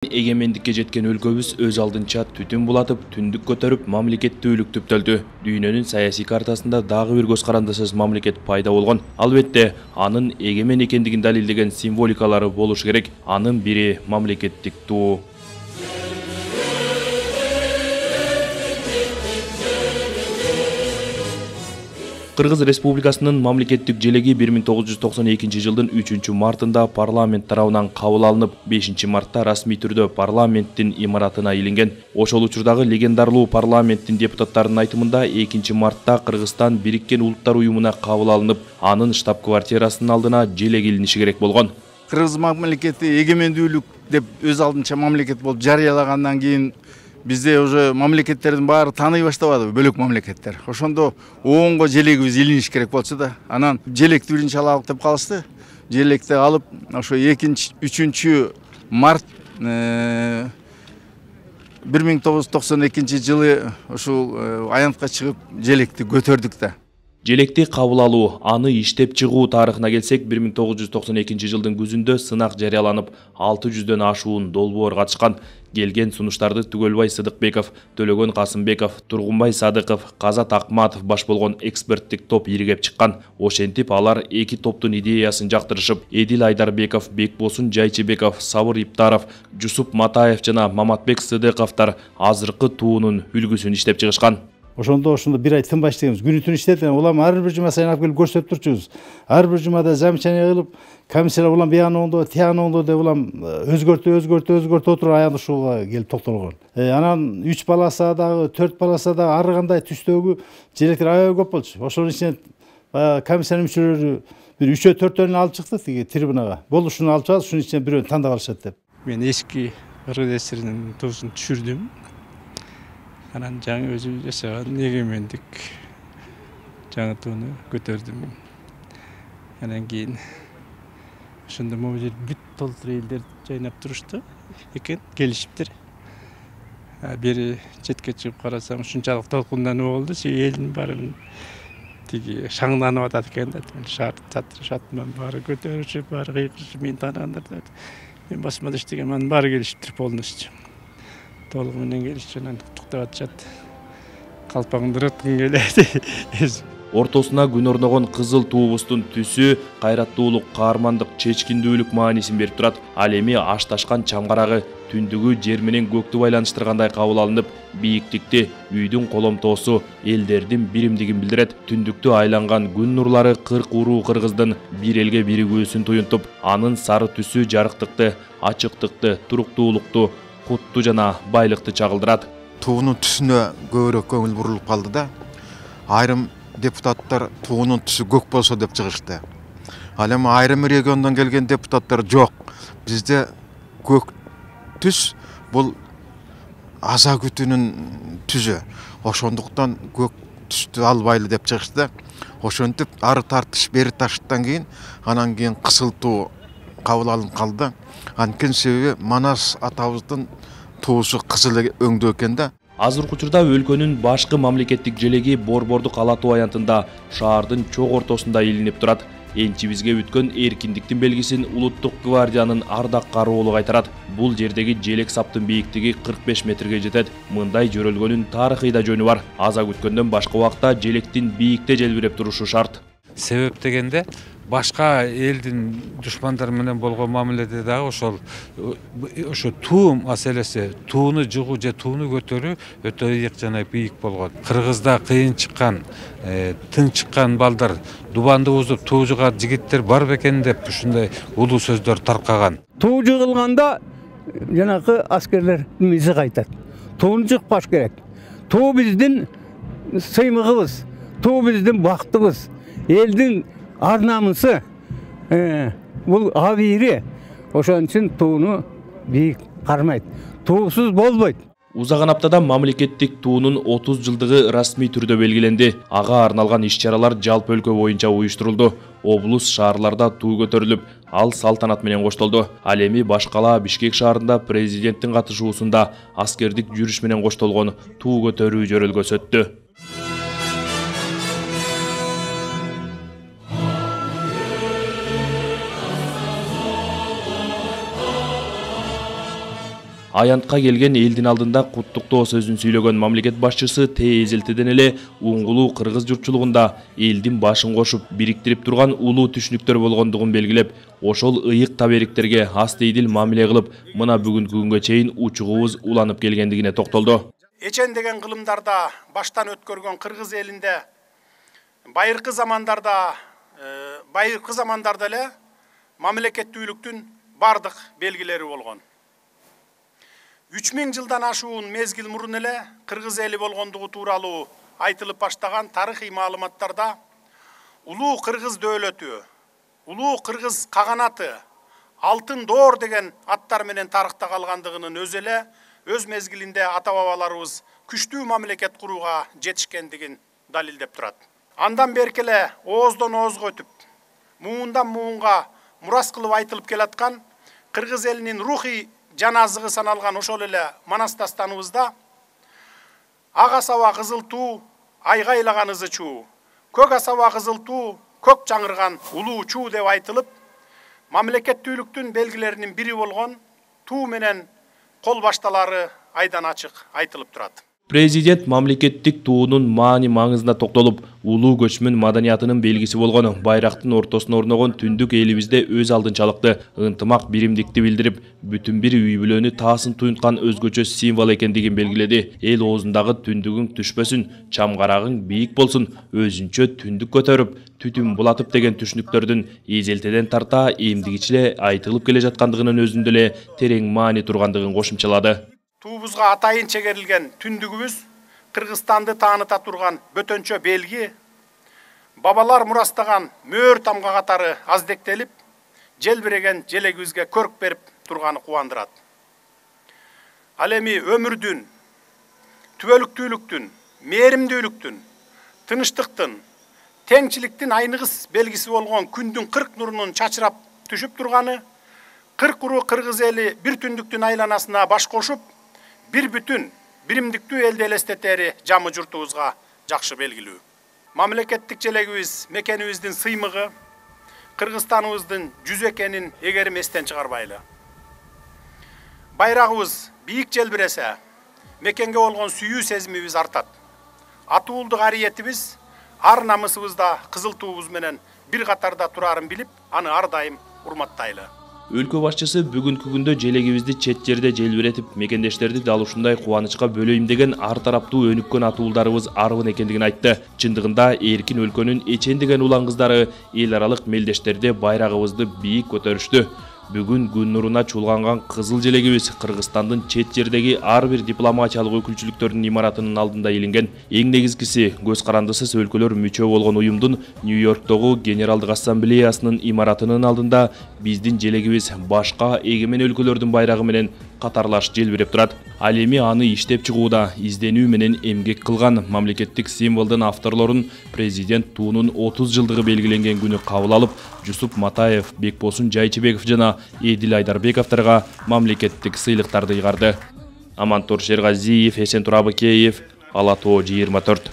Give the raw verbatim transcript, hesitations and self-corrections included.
Эгемендикке жеткен өлкөбүз өз алдынча түтүн булатып, түндүк көтөрүп, мамлекеттүүлүк түптөлдү. Дүйнөнүн саясий картасында дагы бир көз карандысыз мамлекет пайда болгон. Албетте, анын эгемен экендигин далилдеген символикалары болуш керек. Анын бири мамлекеттик туу. Кыргыз Республикасынын мамлекеттик желеги бир миң тогуз жүз токсон экинчи жылдын үчүнчү мартында парламент тарабынан кабыл алынып, бешинчи мартта расмий түрдө парламенттин имаратына илинген. Ошол учурдагы легендарлуу парламенттин депутаттарынын айтымында экинчи мартта Кыргызстан Бириккен Улуттар уюмуна кабыл алынып, анын штаб-квартирасынын алдына желек илиниши керек болгон. Кыргыз мамлекети эгемендүүлүк деп өз алдынча мамлекет болуп жарыялагандан кийин бизде уже мамлекеттердин баары тааный баштабады, бөлөк мамлекеттер. Ошондо оонго желегибиз илиниш керек болчу да. Анан желекти биринчи алалык деп калышты. Желекти алып, ошо экинчи, үчүнчү март бир миң тогуз жүз токсон экинчи жылы ушул аянтка чыгып желекти көтөрдүк да. Желекти кабыл алуу, аны иштеп чыгуу тарыхына келсек, бир миң тогуз жүз токсон экинчи жылдын күзүндө сынак жарыяланып, алты жүздөн ашуун долбоор катышкан. Келген сунуштарды Түгөлбай Сыдыкбеков, Төлөгөн Касымбеков, Тургунбай Садыков, Казат Акматов баш болгон эксперттик топ иригеп чыккан. Ошентип алар эки топтун идеясын жактырышып, Эдил Айдарбеков, Бекбосун Жайчыбеков, Сабыр Иптаров, Жусуп Матаев жана Маматбек Сыдыковдор азыркы туунун үлгүсүн иштеп чыгышкан. Ошондо ошондо бир ай тынбай иштегенбиз. Күнү түнү иштедик. Улам ар бир жума сайын алып келип көрсөтүп турчубуз. Ар бир жумада замечание кылып, комиссиялар улам бияны оңдо, тияны оңдо деп улам өзгөртүп, өзгөртүп, өзгөртүп отуруп аягында ушуга келип токтолгон. Анан үч баласа дагы, төрт баласа дагы ар кандай түстөгү желектер аябай көп болчу. Ошонун ичинен баягы комиссиянын мүчөлөрү бир үчөө төртөөнү алып чыкты тиги трибунага. Болушуну алып чыгабыз, ушунун ичинен бирөөнү тандап алышат деп. Мен эски Кыргыз ССРинин туусун түшүрдүм. Анан жаңы өзү жашаган эгемендик жаңы тууну көтөрдүм. Анан кийин ошондо могу жер бүт толтур элдер жайнап турушту экен, келишиптир. Бери четке чыгып карасам, ушунчалык толкундануу болду, элдин баары тиги шаңданып атат экен да. Шарт чатырышатман, баары көтөрүшүп, баары кыйкырышып, мени тааныгандар да. Мен басмада иштегем, анын баары келишиптир полностью. Толугу менен келишип, анан туктап атышат. Калпаңды ыраткың келет. Ортосуна күн орногон кызыл туубуздун түсү кайраттуулук, каармандык, чечкиндүүлүк маанисин берип турат. Ал эми ашташкан чамгарагы түндүгү жер менен көктү байланыштыргандай кабыл алынып, бийиктикти, үйдүн коломтоосу элдердин биримдигин билдирет. Түндүктү айланган күн нурлары кырк уруу кыргыздын бир элге биригүүсүн туюнтуп, анын сары түсү жарыктыкты, ачыктыкты, туруктуулукту, кутту жана байлыкты чагылдырат. Туунун түсүнө көбүрөөк көңүл бурулуп калды да. Айрым депутаттар туунун түсү көк болсо деп чыгышты. Ал эми айрым региондон келген депутаттар жок. Бизде көк түс бул аза күтүүнүн түсү. Ошондуктан көк түстү албайлы деп чыгышты. Ошентип ары тартыш, бери тартыштан кийин анан кийин кысылтуу кабыл алынып калды. Анткени себеби Манас атабыздын туусу кызыл өңдүү экен да. Азыркы учурда өлкөнүн башкы мамлекеттик желеги Борбордук ала тоо аянтында шаардын чок ортосунда илинип турат. Энчибизге бүткөн эркиндиктин белгисин Улуттук гвардиянын ардак кароолу кайтарат. Бул жердеги желек саптын бийиктиги кырк беш метрге жетет. Мындай жөрөлгөнүн тарыхый да жөнү бар. Аза күткөндөн башка убакта желектин бийикте желбиреп турушу шарт. Себеп дегенде башка элдин душмандары менен болгон мамиледе дагы ошол ошо туу маселеси, тууну жыгуу же тууну көтөрүү өтө ыйык жана бийик болгон. Кыргызда кыйын чыккан, тың чыккан балдар, дубанды бузуп туу жыгар жигиттер бар бекен деп ушундай улуу сөздөр таркаган. Туу жыгылганда жанакы аскерлер мизи кайтат. Тууну жыкпаш керек. Туу биздин сыймыгыбыз, туу биздин бактыбыз, элдин ар намысы, бул абийири. Ошон үчүн тууну бийик кармайт. Туусуз болбойт. Узаган аптада мамлекеттик туунун отуз жылдыгы расмий түрдө белгиленди. Ага арналган иш-чаралар жалпы өлкө боюнча уюштурулду. Облус шаарларда туу көтөрүлүп, ал салтанат менен коштолду. Ал эми башкала Бишкек шаарында президенттин катышуусунда аскердик жүрүш менен коштолгон туу көтөрүү жөрөлгөсү өттү. Аянтка келген элдин алдында куттуктоо сөзүн сүйлөгөн мамлекет башчысы тээзелтеден эле уңгулуу кыргыз журтчулугунда элдин башын кошуп бириктирип турган улуу түшүнүктөр болгондугун белгилеп, ошол ыйык табериктерге астейдил мамиле кылып, мына бүгүнкү күнгө чейин учугубуз уланып келгендигине токтолду. Эчен деген кылымдарда баштан өткөргөн кыргыз элинде байыркы замандарда байыркы замандарда эле мамлекеттүүлүктүн бардык белгилери болгон. үч миң жылдан ашуун мезгил мурун эле кыргыз эли болгондугу тууралуу айтылып баштаган тарыхый маалыматтарда улуу кыргыз дөөлөтү, улуу кыргыз каганаты, алтын доор деген аттар менен тарыхта калгандыгынын өзү эле өз мезгилинде ата бабаларыбыз күчтүү мамлекет курууга жетишкендигин далилдеп турат. Андан берки эле ооздон оозго өтүп, муундан муунга мурас кылып айтылып келаткан кыргыз элинин рухий жана азыгы саналган ошол эле Манас дастаныбызда ак асаба кызыл туу, айгайлаган ызы чуу, көк асаба кызыл туу, көк жаңырган улуу чуу деп айтылып, мамлекеттүүлүктүн белгилеринин бири болгон туу менен кол башталары айдан ачык айтылып турат. Президент мамлекеттик туунун маани маңызына токтолуп, улуу көчмөн маданиятынын белгиси болгон байрактын ортосуна орногон түндүк элибизде өз алдынчалыкты ынтымак биримдикти билдирип, бүтүн бир үй бүлөнү таасын туюнткан өзгөчө символ экендигин белгиледи. Эл оозундагы түндүгүң түшпөсүн, чамгарагың бийик болсун, өзүнчө түндүк көтөрүп, түтүн булатып деген түшүнүктөрдүн эзелтеден тарта эмдигичи эле айтылып келе жаткандыгынын өзүндө эле терең маани тургандыгын кошумчалады. Туубузга атайын чегерилген түндүгүбүз Кыргызстанды тааныта турган бөтөнчө белги, бабалар мурастаган мөөр тамга катары аздектелип, желбиреген желегибизге көрк берип турганы кубандырат. Ал эми өмүрдүн, түбөлүктүүлүктүн, мээримдүүлүктүн, тынычтыктын, теңчиликтин айныгыс белгиси болгон күндүн кырк нурунун чачырап түшүп турганы, кырк уру кыргыз эли бир түндүктүн айланасына баш кошуп, бир бүтүн, биримдиктүү элди элестетери жамы журтубузга жакшы белгилүү. Мамлекеттик желегибиз мекенибиздин сыймыгы, Кыргызстаныбыздын жүзү экенин эгерим эстен чыгарбайлы. Байрагыбыз бийик желбиресе, мекенге болгон сүйүү сезимибиз артат. Атуулдук ариетибиз ар намысыбызда кызыл туубуз менен бир катарда турарын билип, аны ар дайым урматтайлы. Өлкө башчысы бүгүнкү күндө желегибизди чет жерде желбиретип, мекендештерди дал ушундай кубанычка бөлөйм деген ар тараптуу өнүккөн атуулдарыбыз арбын экендигин айтты. Чындыгында эркин өлкөнүн эчен деген улан кыздары эл аралык мелдештерде байрагыбызды бийик көтөрүштү. Бүгүн күн нуруна чуулганган кызыл желегибиз Кыргызстандын чет жердеги ар бир дипломатиялык өкүлчүлүктөрдүн имаратынын алдында илинген. Эң негизгиси көз карандысыз өлкөлөр мүчө болгон уюмдун Нью-Йорктогу Генералдык ассамблеясынын имаратынын алдында биздин желегибиз башка эгемен өлкөлөрдүн байрагы менен катарлаш желбиреп турат. Ал эми аны иштеп чыгууда изденүү менен эмгек кылган мамлекеттик символдун авторлорун президент туунун отуз жылдыгы белгиленген күнү кабыл алып, Жусуп Матаев, Бекбосун Жайчыбеков жана Эдил Айдарбековторго мамлекеттик сыйлыктарды ыйгарды. Амантур Шергазиев, Эсен Турабыкеев, Ала Тоо жыйырма төрт.